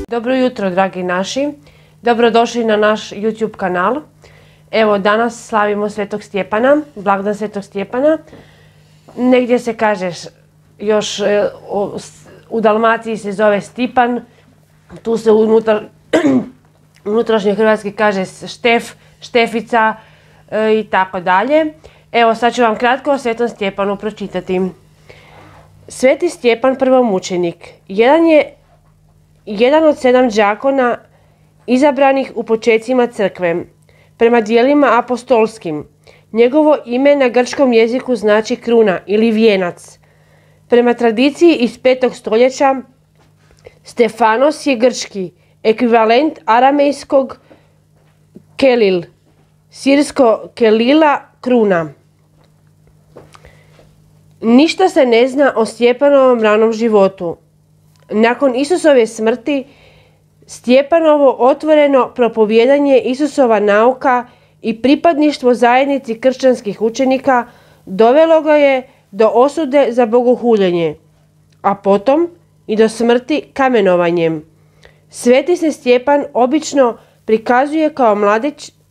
Dobro jutro, dragi naši. Dobrodošli na naš YouTube kanal. Evo, danas slavimo Svetog Stjepana, blagdan Svetog Stjepana. Negdje se kaže, još u Dalmaciji se zove Stipan, tu se unutrašnjoj hrvatski kaže Štef, Štefica i tako dalje. Evo, sad ću vam kratko o Svetom Stjepanu pročitati. Sveti Stjepan prvomučenik jedan od 7 đakona izabranih u počecima crkve. Prema dijelima apostolskim, njegovo ime na grčkom jeziku znači kruna ili vijenac. Prema tradiciji iz 5. stoljeća, Stefanos je grčki ekvivalent aramejskog kelil, sirsko kelila kruna. Ništa se ne zna o Stjepanovom ranom životu. Nakon Isusove smrti, Stjepanovo otvoreno propovijedanje Isusova nauka i pripadništvo zajednici kršćanskih učenika dovelo ga je do osude za bogohuljenje, a potom i do smrti kamenovanjem. Sveti se Stjepan obično prikazuje kao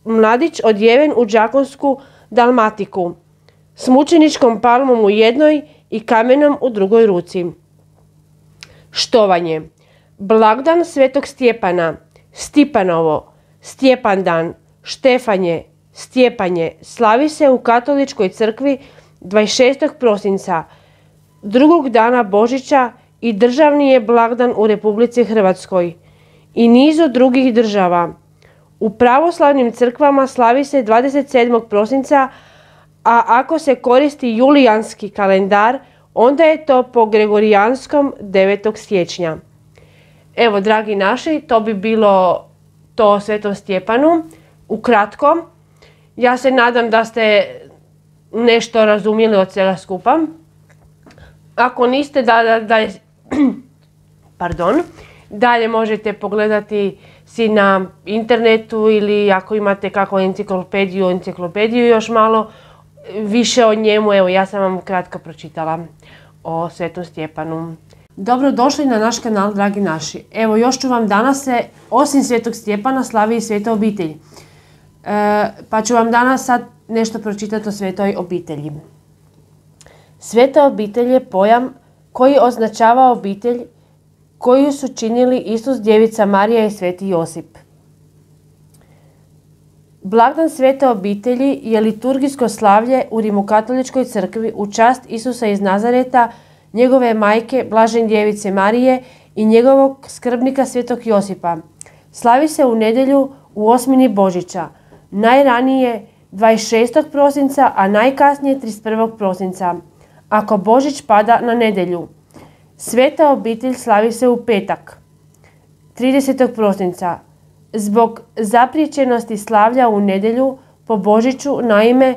mladić odjeven u đakonsku dalmatiku, s mučeničkom palmom u jednoj i kamenom u drugoj ruci. Štovanje. Blagdan Svetog Stjepana, Stipanovo, Stjepandan, Štefanje, Stjepanje slavi se u katoličkoj crkvi 26. prosinca, drugog dana Božića i državni je blagdan u Republici Hrvatskoj i nizu drugih država. U pravoslavnim crkvama slavi se 27. prosinca, a ako se koristi julijanski kalendar, onda je to po gregorijanskom 9. siječnja. Evo, dragi naši, to bi bilo to o Svetom Stjepanu. Ukratko, ja se nadam da ste nešto razumjeli od svega skupa. Ako niste, dalje možete pogledati si na internetu ili ako imate kakvu enciklopediju još malo više o njemu. Evo, ja sam vam kratko pročitala o Svetom Stjepanu. Dobrodošli na naš kanal, dragi naši. Evo, još ću vam danas osim Svetog Stjepana slavi i Sveta obitelj. Pa ću vam danas sad nešto pročitati o Svetoj obitelji. Sveta obitelj je pojam koji označava obitelj koju su činili Isus, Djevica Marija i Sveti Josip. Blagdan Svete obitelji je liturgijsko slavlje u Rimokatoličkoj crkvi u čast Isusa iz Nazareta, njegove majke Blažene Djevice Marije i njegovog skrbnika Svetog Josipa. Slavi se u nedjelju u osmini Božića, najranije 26. prosinca, a najkasnije 31. prosinca, ako Božić pada na nedjelju. Sveta obitelj slavi se u petak, 30. prosinca. Zbog zapriječenosti slavlja u nedjelju po Božiću, naime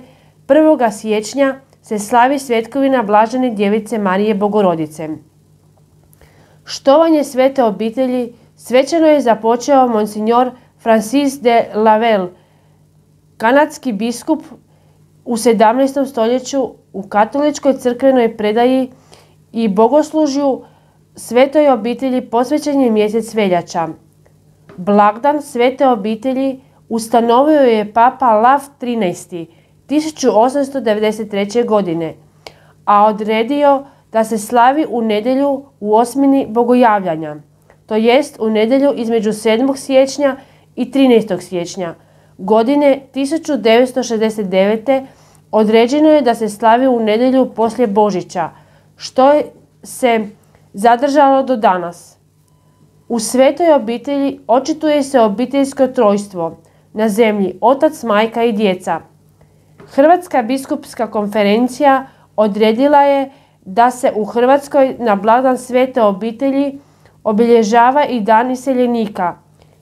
1. siječnja se slavi svetkovina Blažene Djevice Marije Bogorodice. Štovanje Svete obitelji svečano je započeo monsignor Francis de Lavelle, kanadski biskup u 17. stoljeću u katoličkoj crkvenoj predaji i bogoslužju Svetoj obitelji posvećen je mjesec veljača. Blagdan Svete obitelji ustanovio je Papa Lav XIII. 1893. godine, a odredio da se slavi u nedjelju u osmini Bogojavljanja, to jest u nedjelju između 7. siječnja i 13. siječnja. Godine 1969. određeno je da se slavi u nedjelju poslije Božića, što se zadržalo do danas. U Svetoj obitelji očituje se obiteljsko trojstvo na zemlji, otac, majka i djeca. Hrvatska biskupska konferencija odredila je da se u Hrvatskoj na blagdan Svete obitelji obilježava i dan iseljenika,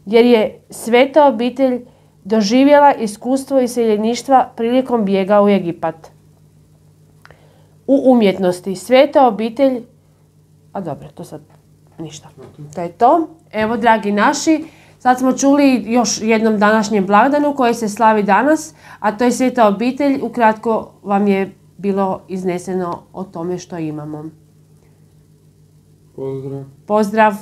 jer je Sveta obitelj doživjela iskustvo iseljeništva prilikom bijega u Egipat. U umjetnosti Sveta obitelj... to sad ništa. To je to. Evo, dragi naši, sad smo čuli još jednom današnjem blagdanu koji se slavi danas, a to je Sveta obitelj. Ukratko vam je bilo izneseno o tome što imamo. Pozdrav. Pozdrav.